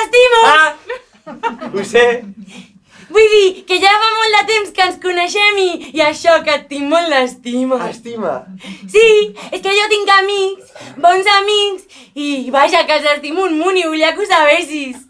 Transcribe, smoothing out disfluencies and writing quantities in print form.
t'estimo! Ah! Ho sé. Vull dir que ja fa molt de temps que ens coneixem i això, que et tinc molt d'estima. Estima. Sí, és que jo tinc amics, bons amics, i vaja, que els estimo un munt i volia que ho sabessis.